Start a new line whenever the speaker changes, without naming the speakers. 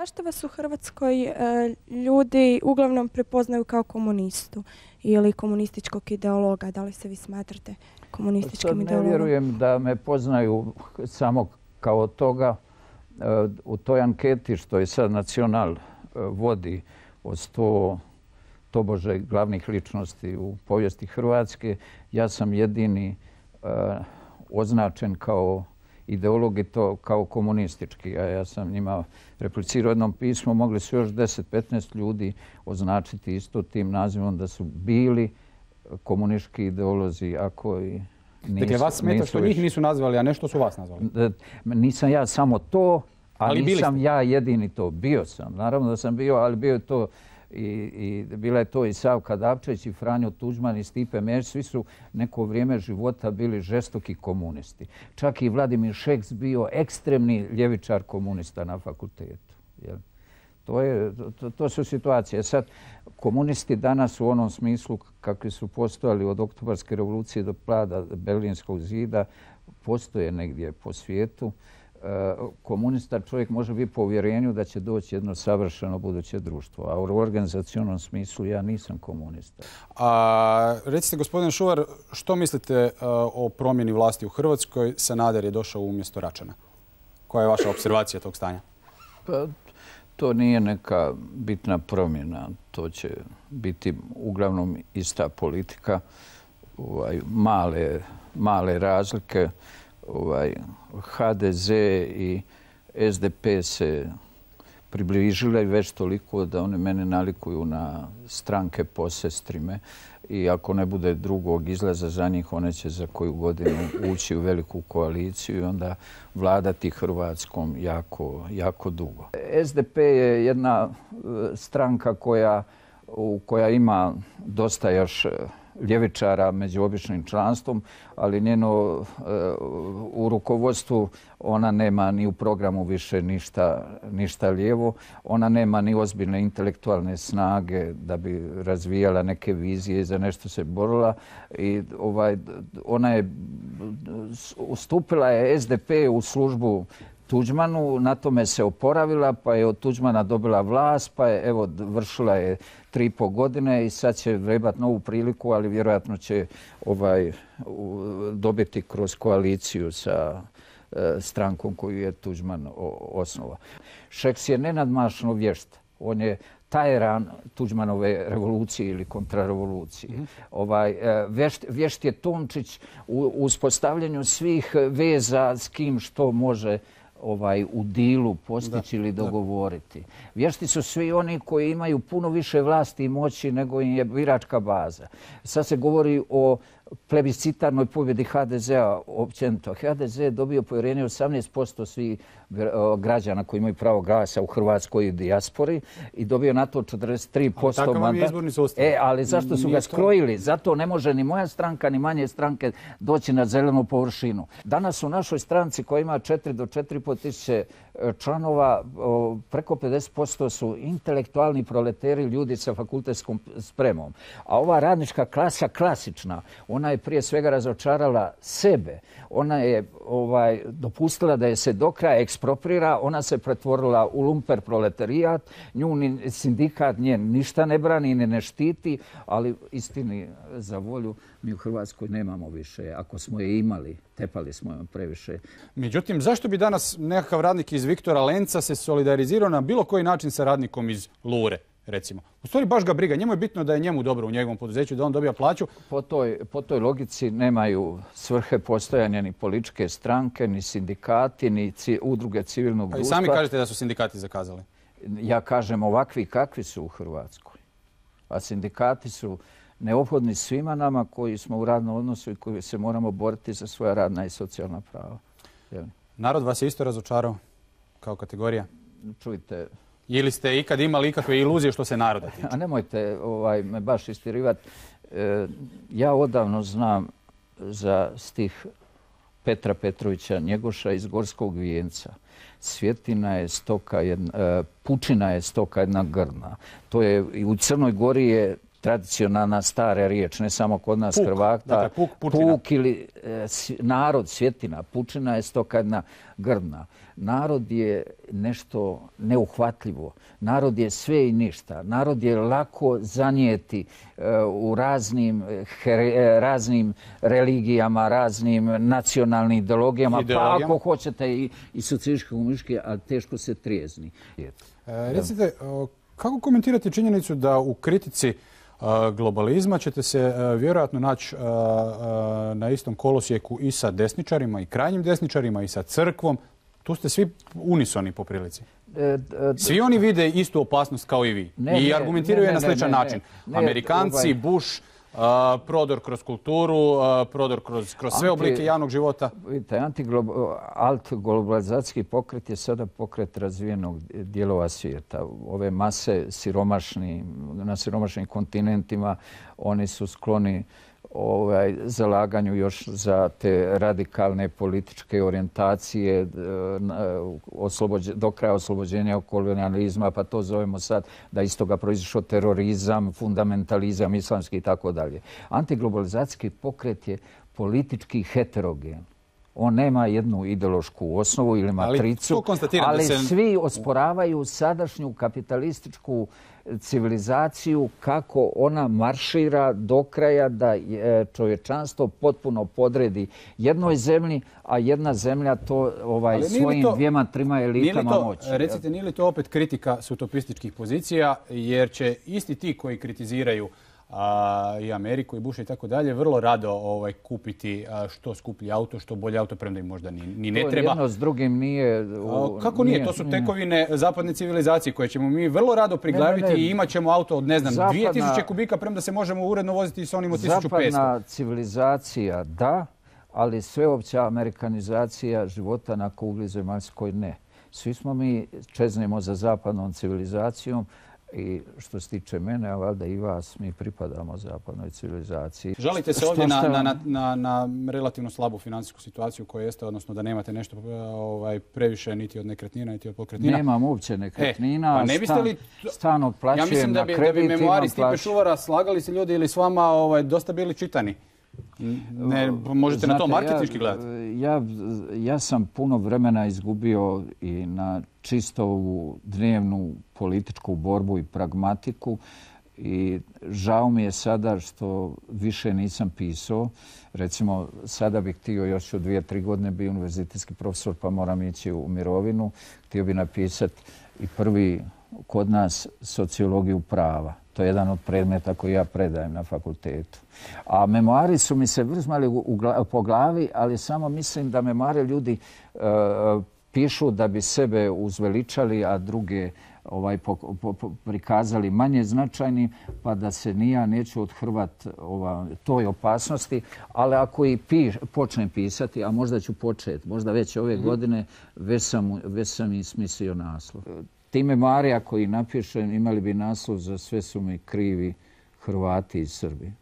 Zašto vas u Hrvatskoj ljudi uglavnom prepoznaju kao komunistu ili komunističkog ideologa? Da li se vi smatrate komunističkim ideologom?
Ne vjerujem da me poznaju samo kao toga. U toj anketi što je sad Nacional vodi od 100 tobože glavnih ličnosti u povijesti Hrvatske, ja sam jedini označen kao ideolog i to kao komunistički. A ja sam njima replicirao jednom pismu, mogli su još 10-15 ljudi označiti isto tim nazivom da su bili komunistički ideolozi, ako i nisu.
Dakle, vas smeta što njih nisu nazvali, a nešto su vas nazvali?
Nisam ja samo to, ali nisam ja jedini to. Bio sam, naravno da sam bio, ali bio je to i bila je to i Savka Dabčević i Franjo Tuđman i Stipe Mesić. Svi su neko vrijeme života bili žestoki komunisti. Čak i Vladimir Šeks bio ekstremni ljevičar komunista na fakultetu. To su situacije. Sad, komunisti danas u onom smislu kakvi su postojali od Oktobarske revolucije do pada Berlinskog zida postoje negdje po svijetu. Komunista čovjek može biti po uvjerenju da će doći jedno savršeno buduće društvo. A u organizacionom smislu ja nisam komunista.
Recite, gospodine Šuvar, što mislite o promjeni vlasti u Hrvatskoj? Sanader je došao umjesto Račana. Koja je vaša observacija tog stanja?
Pa, to nije neka bitna promjena. To će biti uglavnom ista politika. Male razlike. HDZ i SDP se približile već toliko da one mene nalikuju na stranke posestrime i ako ne bude drugog izlaza za njih, one će za koju godinu ući u veliku koaliciju i onda vladati Hrvatskom jako dugo. SDP je jedna stranka koja ima dosta još ljevičara među običnim članstvom, ali njeno u rukovodstvu ona nema ni u programu više ništa lijevo. Ona nema ni ozbiljne intelektualne snage da bi razvijala neke vizije i za nešto se borila. I ona je ustupila je SDP u službu Tuđmanu, na tome se oporavila, pa je od Tuđmana dobila vlast, pa je vršila je 3,5 godine i sad će vrebati novu priliku, ali vjerojatno će dobiti kroz koaliciju sa strankom koju je Tuđman osnovao. Šeks je nenadmašno vješt. On je tajeran Tuđmanove revolucije ili kontrarevolucije. Vješt je Tončić u uspostavljanju svih veza s kim što može u dilu postići ili dogovoriti. Vješti su svi oni koji imaju puno više vlasti i moći nego im je biračka baza. Sad se govori o plebiscitarnoj pobjedi HDZ-a općenito. HDZ je dobio povjerenje 18% svih građana koji imaju pravo glasa u Hrvatskoj i dijaspori i dobio na to 43%
Takav vam je izborni sustav.
Ali zašto su ga skrojili? Zato ne može ni moja stranka, ni manje stranke doći na zelenu površinu. Danas u našoj stranci koja ima 4 do 4,5 tisuće članova, preko 50% su intelektualni proleteri, ljudi sa fakultetskom spremom. A ova radnička klasa klasična, ona je prije svega razočarala sebe. Ona je dopustila da je se do kraja eksproprira, ona se pretvorila u lumper proletarijat, nju ni sindikat njen ništa ne brani, ne štiti, ali istini za volju mi u Hrvatskoj nemamo više. Ako smo je imali, tepali smo je previše.
Međutim, zašto bi danas nekakav radnik iz Viktora Lenca se solidarizirao na bilo koji način sa radnikom iz Lure, recimo? U stvari baš ga briga. Njemu je bitno da je njemu dobro u njegovom poduzeću, da on dobija plaću.
Po toj logici nemaju svrhe postojanja ni političke stranke, ni sindikati, ni udruge civilnog društva.
I sami kažete da su sindikati zakazali.
Ja kažem ovakvi kakvi su u Hrvatskoj. A sindikati su neophodni svima nama koji smo u radnom odnosu i koji se moramo boriti za svoja radna i socijalna prava.
Narod vas je isto razočarao kao kategorija?
Čujte.
Ili ste ikad imali ikakve iluzije što se naroda tiče?
A nemojte me baš istirivati. Ja odavno znam za stih Petra Petrovića Njegoša iz Gorskog vijenca. Svjetina je stoka, pučina je stoka jedna grna. To je, i u Crnoj Gori je tradicionalna stara riječ, ne samo kod nas
Puk,
Hrvata.
dakle, pučina.
Puk ili narod, svjetina. Pučina je stoka jedna grdna. Narod je nešto neuhvatljivo. Narod je sve i ništa. Narod je lako zanijeti u raznim religijama, raznim nacionalnim ideologijama, pa ako hoćete i socijalistički, komunistički, ali teško se trijezni.
Recite, kako komentirate činjenicu da u kritici globalizma ćete se vjerojatno naći na istom kolosijeku i sa desničarima i krajnjim desničarima i sa crkvom? Tu ste svi unisoni po prilici. Svi oni vide istu opasnost kao i vi i argumentiraju je na sličan način. Amerikanci, Bush, prodor kroz kulturu, prodor kroz sve oblike javnog života.
Vidite, alt-globalizacijski pokret je sada pokret razvijenog dijelova svijeta. Ove mase na siromašnim kontinentima, oni su skloni zalaganju još za te radikalne političke orijentacije do kraja oslobođenja od kolonijalizma, pa to zovemo sad da iz toga proizišao terorizam, fundamentalizam, islamski i tako dalje. Antiglobalizacijski pokret je politički heterogen. On nema jednu ideološku osnovu ili matricu, ali svi osporavaju sadašnju kapitalističku civilizaciju, kako ona maršira do kraja da čovječanstvo potpuno podredi jednoj zemlji, a jedna zemlja to svojim dvijema, trima elitama moći.
Recite, nije li to opet kritika s utopističkih pozicija, jer će isti ti koji kritiziraju i Ameriku i Busha i tako dalje vrlo rado kupiti što skuplji auto, što bolje auto, premda im možda ni ne treba.
Jedno s drugim nije...
Kako nije? To su tekovine zapadne civilizacije koje ćemo mi vrlo rado priglaviti i imat ćemo auto od 2000 kubika, premda se možemo uredno voziti s onim od 1500.
Zapadna civilizacija da, ali sveopća amerikanizacija života na kugli zemaljskoj ne. Svi smo mi čeznemo za zapadnom civilizacijom, i što se tiče mene, a valjda i vas, mi pripadamo zapadnoj civilizaciji.
Žalite se ovdje na relativno slabu financijsku situaciju koja jeste, odnosno da nemate nešto previše niti od nekretnina, niti od pokretnina?
Nemam uopće nekretnina.
Pa ne biste li...
Stan otplaćujem na kredit.
Ja mislim da bi memoari Stipe Šuvara slagali se ljudi ili s vama dosta bili čitani. Možete na to marketinški gledati?
Ja sam puno vremena izgubio i na čisto ovu dnevnu političku borbu i pragmatiku i žao mi je sada što više nisam pisao. Recimo, sada bih htio još u 2-3 godine biti univerzitetski profesor pa moram ići u mirovinu. Htio bih napisati i prvi kod nas sociologiju prava. To je jedan od predmeta koji ja predajem na fakultetu. A memoari su mi se vrzmali po glavi, ali samo mislim da memoare ljudi pišu da bi sebe uzveličali, a druge prikazali manje značajni, pa da se ni ja neću othrvat toj opasnosti. Ali ako i počnem pisati, a možda ću početi, možda već ove godine, već sam i smislio naslov. Ti memoari, ako ih napišem, imali bi naslov Za sve su mi krivi Hrvati i Srbi.